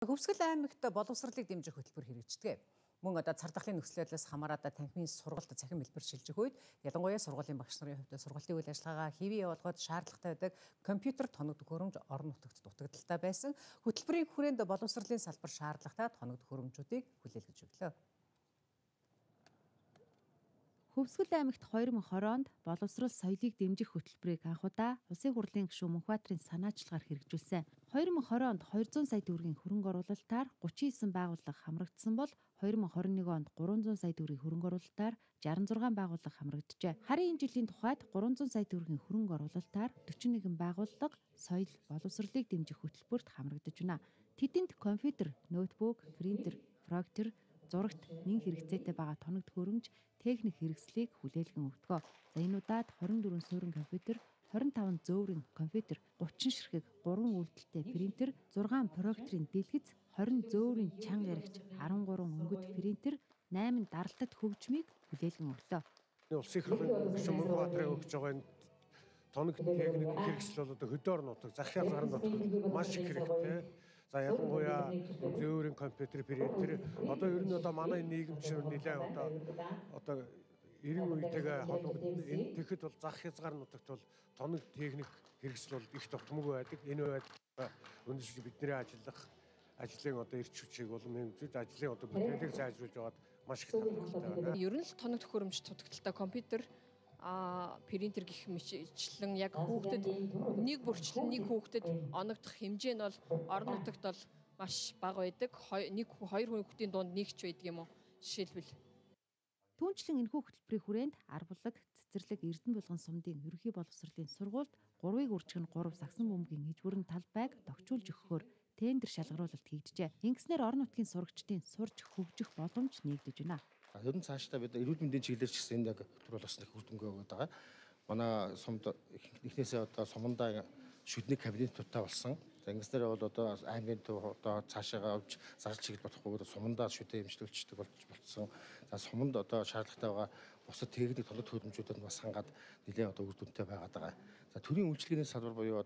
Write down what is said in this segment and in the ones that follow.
Хөвсгөл аймагт боловсролыг дэмжих хөтөлбөр хэрэгждэг. Мөн цардахлын нөхцөл байдлаас хамаарат танхимын сургалт цахим хэлбэр шилжих үед ялангуяа сургуулийн багш нарын хувьд сургалтын үйл ажиллагаагаа хэвээ явуулахад шаардлагатай байдаг компьютер тоног төхөөрөмж орон нутагт дутагдaltaй байсан. Хөтөлбөрийн хүрээнд боловсролын салбар шаардлагатай тоног төхөөрөмжүүдийг хүлээлгэж өглөө. Хөвсгөл аймагт 2020 онд боловсрол соёлыг дэмжих хөтөлбөрийг анх удаа Улсын хурлын гишүүн Мөнхбаатарын санаачлагаар хэрэгжүүлсэн. 2020 онд 200 сая төгрөгийн хөрөнгө оруулалтаар 39 байгууллага хамрагдсан бол 2021 онд 300 сая төгрөгийн хөрөнгө оруулалтаар 66 байгууллага хамрагджээ. Харин энэ жилийн тухайд 300 сая төгрөгийн хөрөнгө оруулалтаар 41 байгууллага соёл боловсролыг дэмжих хөтөлбөрт хамрагдаж байна. Тэдэнд компьютер, ноутбук, принтер, проектор, зурагт нэн хэрэгцээтэй байгаа тоног төхөөрөмж, техник хэрэгслийг хүлээлгэн өгдөг. За энэ удаад 24 суурин компьютер, 25 зөөврийн компьютер, 30 ширхэг, 3 үйлдэлтэй принтер, 6 проекторын дэлгэц, 20 зөөврийн чанга яригч, 13 өнгөт принтер, 8 даралтад хөгжмийг хүлээлгэн өглөө. Улсын хурлын гишүүн Мөнхбаатарын өгж байгаа энэ тоног техник хэрэгсэл бол хөдөө орон нутаг, захиа зарын нутагт маш их хэрэгтэй. За ялангуяа зөөврийн компьютер, принтер одоо ер нь манай нийгэмчнэр нэлээд одоо 90 үетэйгээ холбогдсон. Энэ тэгэхэд бол зах хязгаар нутагт бол тоног техник хэрэгсэл бол их дутмаг байдаг. Энэ байдал өнөөдөр бидний ажлын эрч хүчийг болон ажлын бүтээлийг сайжруулж байгаад маш их талбартай байна. Ер нь л тоног төхөөрөмж дутагдaltaй компьютер принтер гэх мэтчлэн яг хүүхдэд нэг бүрчлэн нэг хүүхдэд оногдох хэмжээ нь бол орон нутагт бол маш бага байдаг. Нэг хоёр хүүхдийн дунд нэг ч байдаг юм уу? Жишээлбэл Түүнчлэн энэхүү хөтөлбөрийн хүрээнд Арбулаг, Цэцэрлэг, Эрдэнэ булган сумдын ерөнхий боловсролын сургуульд 3-ыг үржих нь 3 сагсан бөмбөгийн ижвэрэн талбайг тогтчулж өгөхөөр тендер шалгаруулалт хийгджээ. Ингэснээр орон нутгийн сурагчдын сурж хөгжих боломж нэгдэж байна. Ер нь цаашдаа бид эрүүл мэндийн чиглэлээр ч гэсэн яг хөтөлбөр бас их хүрдэмгөө өгöd байгаа. Манай сумд эхнээсээ сумандаа шүдний кабинетуудтай болсон. За ингэснээр бол аймгийн төв цаашаа авч зарж чиглэл болохгүй сумандаа шүдээ эмчлүүлждэг болцсон. За суманд шаардлагатай байгаа бусад техник тоног төхөөрөмжүүдэд бас хангаад нэлээд үр дүнтэй байгаад байгаа. За төрийн үйлчлэгээний салбар буюу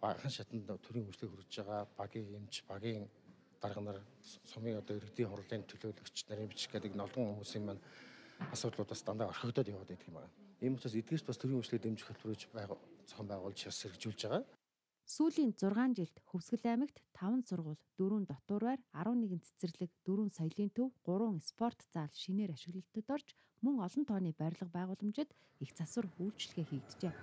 багахан шатанд төрийн үйлчлэг хүргэж байгаа багийн эмч, багийн дарга нар, сумын иргэдийн хурлын төлөөлөгч нарын бичих гэдэг олон хүмүүсийн маань асуудлуудаас дандаа орхигдоод яваад байдаг юм байна. Ийм учраас эдгээрч бас төрийн үйлчлэг дэмжих хөтөлбөрөж зохион байгуулж хэрэгжүүлж байгаа. Сүүлийн 6 жилд Хөвсгөл аймагт 5 сургууль, 4 дотуураар, 11 цэцэрлэг, 4 соёлын төв, 3 спорт зал шинээр ашиглалтад орж мөн олон тооны барилга байгууламжид их засвар үйлчилгээ хийгджээ.